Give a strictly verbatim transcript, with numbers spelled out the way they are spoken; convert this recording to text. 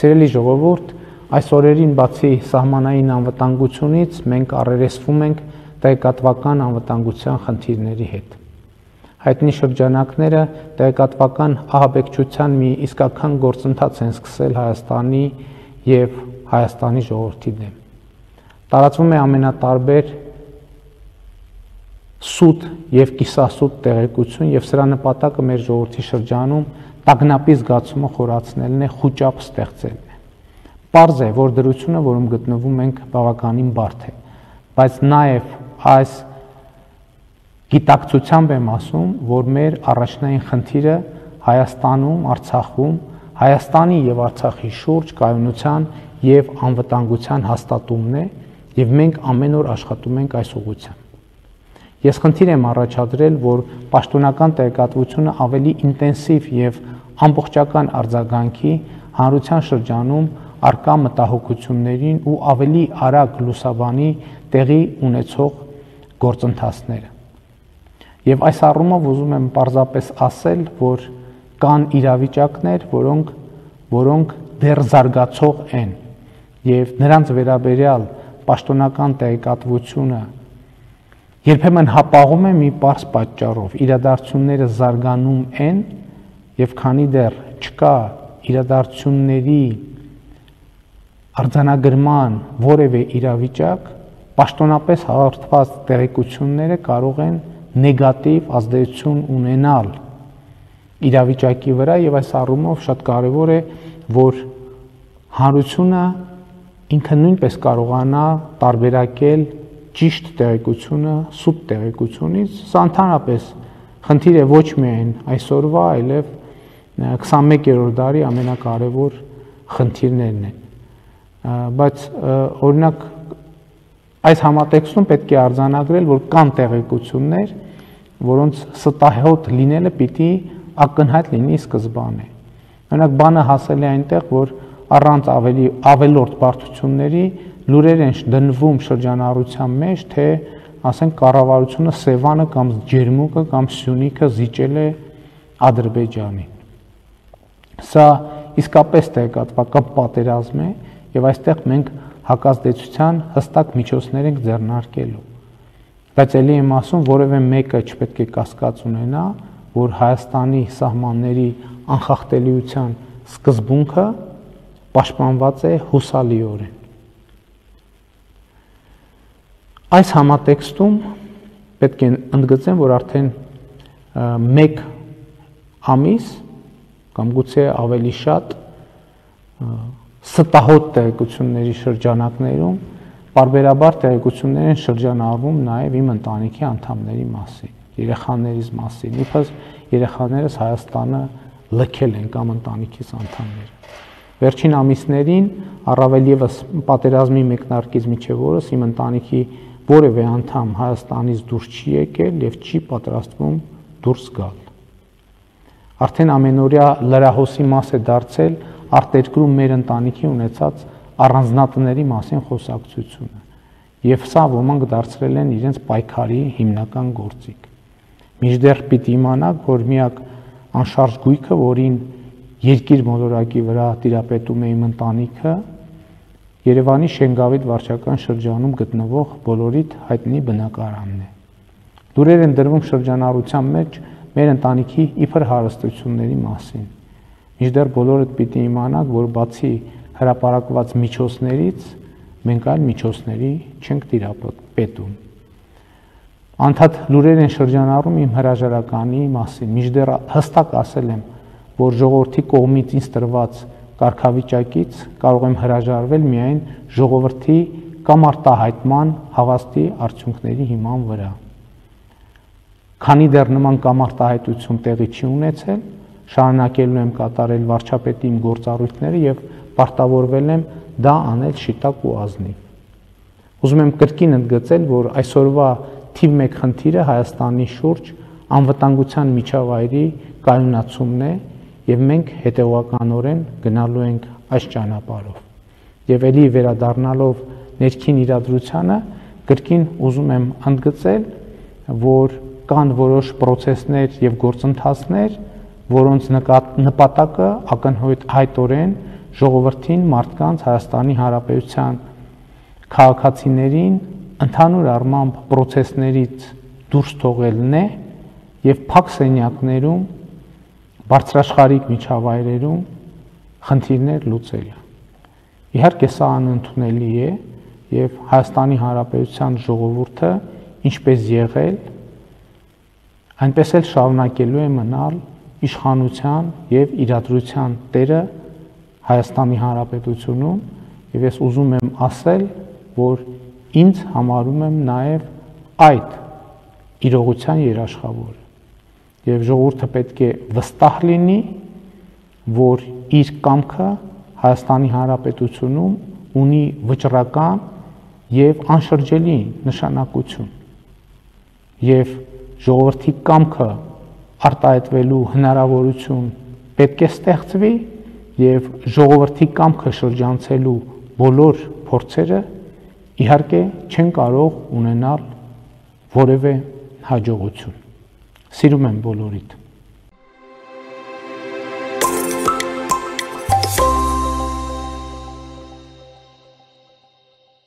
Սիրելի ժողովուրդ, այս օրերին բացի սահմանային անվտանգությունից մենք առերեսվում ենք տեղեկատվական անվտանգության խնդիրների հետ։ Հայտնի շրջանակները տեղեկատվական ահաբեկչության մի իսկական գործընթաց են սկսել Հայաստանի և Հայաստանի ժողովրդի դեմ։ Տարածվում է ամենատարբեր սուտ և կիսասուտ տեղեկություն և սրա նպատակը մեր ժողովրդի շրջանում տագնապի զգացումը խորացնելն է, խուճապ ստեղծելն է։ Պարզ է, որ դրությունը, որում գտնվում ենք, բավականին բարդ է, բայց նաև այս գիտակցությամբ եմ ասում, որ մեր առաջնային խնդիրը Հայաստանում, Արցախում, Հայաստանի և Արցախի շուրջ կայունության և անվտանգության հաստատումն է, և մենք ամեն օր աշխատում ենք այս ուղղությամբ։ Ես խնդիր եմ առաջադրել, որ պաշտոնական տեղեկատվությունը ավելի ինտենսիվ և ամբողջական արձագանքի հանրության շրջանում առկա մտահոգություններին ու ավելի արագ լուսաբանի տեղի ունեցող գործընթացները։ Եվ այս առումով ուզում եմ պարզապես ասել, որ կան իրավիճակներ, որոնք, որոնք դեռ զարգացող են, և նրանց վերաբերյալ պաշտոնական տեղեկատվությունը երբեմն հապաղում է մի պարզ պատճառով, իրադարձությունները զարգանում են, և քանի դեռ չկա իրադարձությունների արձանագրման որևէ իրավիճակ, պաշտոնապես հաղորդված տեղեկությունները կարող են նեգատիվ ազդեցություն ունենալ իրավիճակի վրա, և այս առումով շատ կարևոր է, որ հանրությունը ինքը նույնպես կարողանա տարբերակել ճիշտ տեղեկությունը սուտ տեղեկությունից։ Սա ընդհանրապես խնդիր է ոչ միայն այսօրվա, այլև քսանմեկերորդ դարի ամենակարևոր խնդիրներն են։ Բայց օրինակ այս համատեքստում պետք է արձանագրել, որ կան տեղեկություններ, որոնց ստահոդ լինելը պիտի ակնհայտ լինի սկզբանե։ Օրինակ բանը հասել է այնտեղ, որ առանց ավելի ավելորդ բարդությունների լուրեր են դնվում շրջանառության մեջ, թե ասենք կառավարությունը Սևանը կամ Ջերմուկը կամ Սյունիքը զիջել է Ադրբեջանին։ Սա իսկապես տեղեկատվական պատերազմ է, և այստեղ մենք հակազդեցության հստակ միջոցներ ենք ձեռնարկելու։ Բայց ելի եմ ասում, որևէ մեկը չպետք է կասկած ունենա, որ Հայաստանի սահմանների անխախտելիության սկզբունքը պաշտպանված է հուսալիորեն։ Այս համատեքստում պետք է ընդգծեմ, որ արդեն մեկ ամիս կամ գուցե ավելի շատ ստահոդ տեղեկությունների շրջանակներում պարբերաբար տեղեկություններ են շրջանառվում նաև իմ ընտանիքի անդամների մասին, երեխաներիս մասին, իբրև երեխաներս Հայաստանը լքել են կամ ընտանիքիս անդամները։ Վերջին ամիսներին առավել ևս պատերազմի մեկնարկից մինչև օրս իմ ընտանիքի որևէ անդամ Հայաստանից դուրս չի եկել և չի պատրաստվում դուրս գալ։ Արդեն ամենօրյա լրահոսի մաս է դարձել արտերկրում մեր ընտանիքի ունեցած առանձնատների մասին խոսակցությունը, և սա ոմանք դարձրել են իրենց պայքարի հիմնական գործիք։ Մինչդեռ պիտի իմանաք, որ միակ անշարժ գույքը, որին երկիր մոլորակի վրա տիրապետում է իմ ընտանիքը, Երևանի Շենգավիթ վարչական շրջանում գտնվող բոլորիդ հայտնի բնակարանն է։ Լուրեր են դրվում շրջանառության մեջ մեր ընտանիքի իբր հարստությունների մասին։ Մինչդեռ բոլորդ պիտի իմանաք, որ բացի հրապարակված միջոցներից մենք այլ միջոցների չենք տիրապետում։ Անդադ լուրեր են շրջանառում իմ հրաժարականի մասին, մինչդեռ հստակ ասել եմ, որ ժողովրդի կողմից ինձ տրված կարգավիճակից կարող եմ հրաժարվել միայն ժողովրդի կամ արտահայտման հավաստի արդյունքների հիման վրա։ Քանի դեռ նման կամ արտահայտություն տեղի չի ունեցել, շարունակելու եմ կատարել վարչապետի իմ գործառույթները և պարտավորվել եմ դա անել շիտակ ու ազնիվ։ Ուզում եմ կրկին ընդգծել, որ այսօրվա թիվ մեկ խնդիրը Հայաստանի շուրջ անվտանգության միջավայրի կայունացումն է, և մենք հետևականորեն գնալու ենք այս ճանապարհով։ Եվ ելի վերադառնալով ներքին իրադրությանը, կրկին ուզում եմ ընդգծել, որ կան որոշ պրոցեսներ և գործընթացներ, որոնց նպատակը ակնհայտորեն ժողովրդին, մարդկանց, Հայաստանի Հանրապետության քաղաքացիներին ընդհանուր առմամբ process-ներից դուրս թողելն է եւ փակ սենյակներում, բարձրաշխարհիկ միջավայրերում խնդիրներ լուծելը։ Իհարկե սա անընդունելի է եւ Հայաստանի Հանրապետության ժողովուրդը ինչպես եղել, այնպես էլ շարունակելու է մնալ իշխանության եւ իրադրության տերը Հայաստանի Հանրապետությունում եւ ես ուզում եմ ասել, որ ինձ համարում եմ նաեւ այդ իրողության երաշխավորը եւ ժողովուրդը պետք է վստահ լինի, որ իր կամքը Հայաստանի Հանրապետությունում ունի վճռական եւ անշրջելի նշանակություն եւ ժողովրդի կամքը արտահայտվելու հնարավորություն պետք է ստեղծվի եւ ժողովրդի կամքը շրջանցելու բոլոր փորձերը իհարկե չեն կարող ունենալ որևէ հաջողություն։ Սիրում եմ բոլորիդ։